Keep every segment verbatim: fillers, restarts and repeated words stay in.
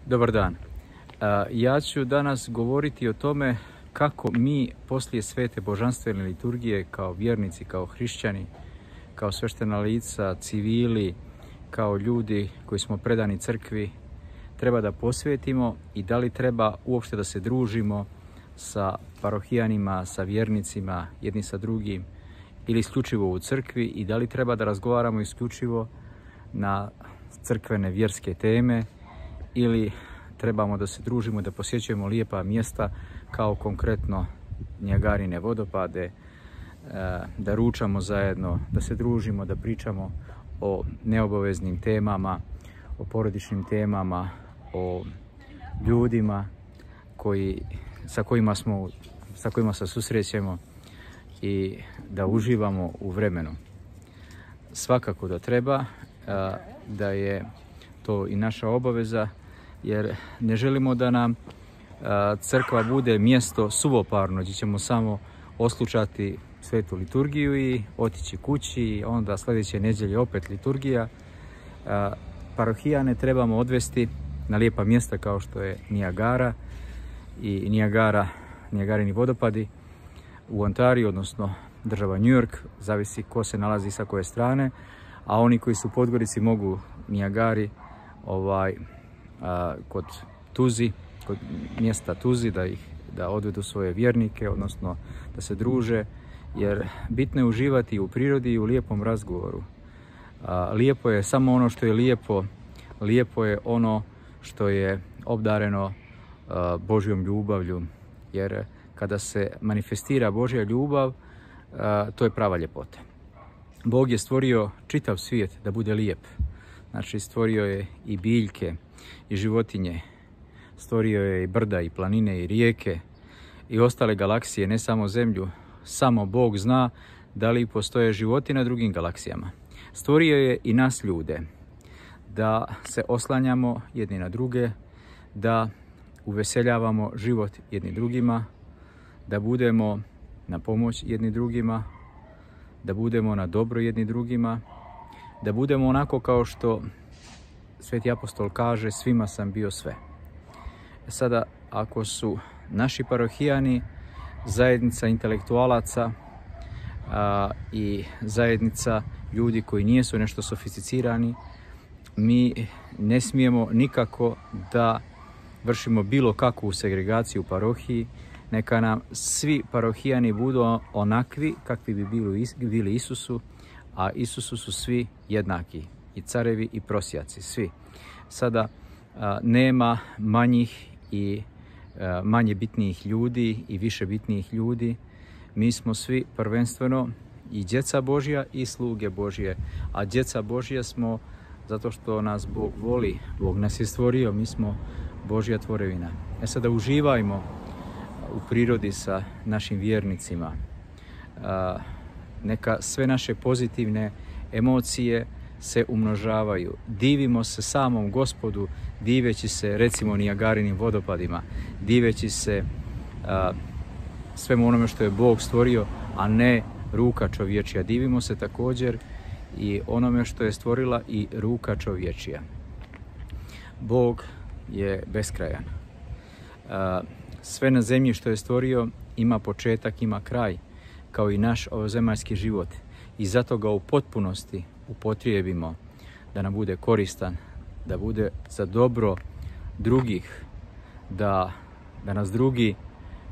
Dobar dan. Ja ću danas govoriti o tome kako mi poslije svete božanstvene liturgije kao vjernici, kao hrišćani, kao sveštena lica, civili, kao ljudi koji smo predani crkvi, treba da posvetimo i da li treba uopšte da se družimo sa parohijanima, sa vjernicima, jedni sa drugim, ili isključivo u crkvi, i da li treba da razgovaramo isključivo na crkvene vjerske teme, ili trebamo da se družimo, da posjećujemo lijepa mjesta kao konkretno Niagarine vodopade, da ručamo zajedno, da se družimo, da pričamo o neobaveznim temama, o porodičnim temama, o ljudima koji, sa, kojima smo, sa kojima se susrećemo i da uživamo u vremenu. Svakako da treba, da je to i naša obaveza, jer ne želimo da nam crkva bude mjesto suvoparno gdje ćemo samo oslušati svetu liturgiju i otići kući, i onda sljedeće nedjelje opet liturgija. Parohijane trebamo odvesti na lijepa mjesta kao što je Niagara i Niagara, Niagarini vodopadi u Ontariju, odnosno država New York, zavisi ko se nalazi sa koje strane, a oni koji su u Podgorici mogu Niagari ovaj, a, kod Tuzi, kod mjesta Tuzi, da ih da odvedu svoje vjernike, odnosno da se druže, jer bitno je uživati u prirodi i u lijepom razgovoru. A, lijepo je samo ono što je lijepo, lijepo je ono što je obdareno a, Božjom ljubavlju, jer kada se manifestira Božja ljubav, a, to je prava ljepota. Bog je stvorio čitav svijet da bude lijep. Znači, stvorio je i biljke i životinje, stvorio je i brda i planine i rijeke i ostale galaksije, ne samo Zemlju. Samo Bog zna da li postoje životi na drugim galaksijama. Stvorio je i nas ljude, da se oslanjamo jedni na druge, da uveseljavamo život jedni drugima, da budemo na pomoć jedni drugima, da budemo na dobro jedni drugima, da budemo onako kao što Sveti apostol kaže, svima sam bio sve. Sada, ako su naši parohijani zajednica intelektualaca a, i zajednica ljudi koji nisu nešto sofisticirani, mi ne smijemo nikako da vršimo bilo kakvu segregaciju u parohiji. Neka nam svi parohijani budu onakvi kakvi bi bili, bili Isusu, a Isusu su svi jednaki, i carevi i prosjaci, svi. Sada a, nema manjih i a, manje bitnijih ljudi i više bitnijih ljudi. Mi smo svi prvenstveno i djeca Božja i sluge Božje, a djeca Božja smo zato što nas Bog voli, Bog nas je stvorio, mi smo Božja tvorevina. E sada uživajmo u prirodi sa našim vjernicima. A, neka sve naše pozitivne emocije se umnožavaju. Divimo se samom Gospodu, diveći se recimo Niagarinim vodopadima, diveći se a, svemu onome što je Bog stvorio, a ne ruka čovječija. Divimo se također i onome što je stvorila i ruka čovječija. Bog je beskrajan. A, sve na zemlji što je stvorio ima početak, ima kraj, kao i naš ovozemaljski život. I zato ga u potpunosti upotrijebimo da nam bude koristan, da bude za dobro drugih, da, da nas drugi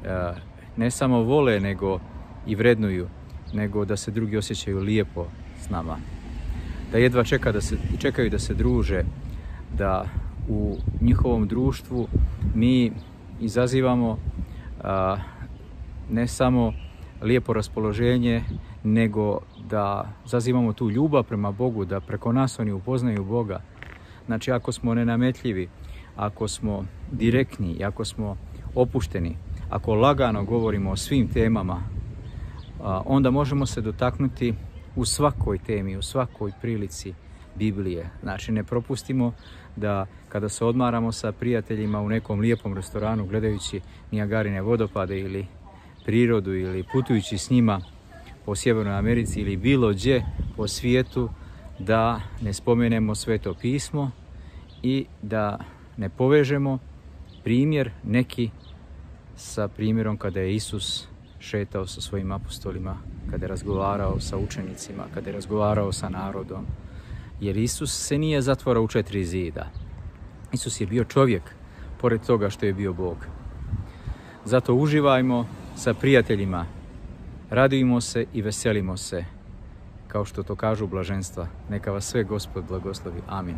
e, ne samo vole, nego i vrednuju, nego da se drugi osjećaju lijepo s nama. Da jedva čeka da se, čekaju da se druže, da u njihovom društvu mi izazivamo a, ne samo lijepo raspoloženje, nego da zazivamo tu ljubav prema Bogu, da preko nas oni upoznaju Boga. Znači, ako smo nenametljivi, ako smo direktni, ako smo opušteni, ako lagano govorimo o svim temama, onda možemo se dotaknuti u svakoj temi, u svakoj prilici Biblije. Znači, ne propustimo da kada se odmaramo sa prijateljima u nekom lijepom restoranu gledajući Niagarine vodopade ili prirodu, ili putujući s njima po Sjevernoj Americi ili bilo gdje po svijetu, da ne spomenemo Sveto pismo i da ne povežemo primjer neki sa primjerom kada je Isus šetao sa svojim apostolima, kada je razgovarao sa učenicima, kada je razgovarao sa narodom. Jer Isus se nije zatvorao u četiri zida. Isus je bio čovjek, pored toga što je bio Bog. Zato uživajmo sa prijateljima, radujmo se i veselimo se, kao što to kažu blaženstva. Neka vas sve Gospod blagoslovi. Amin.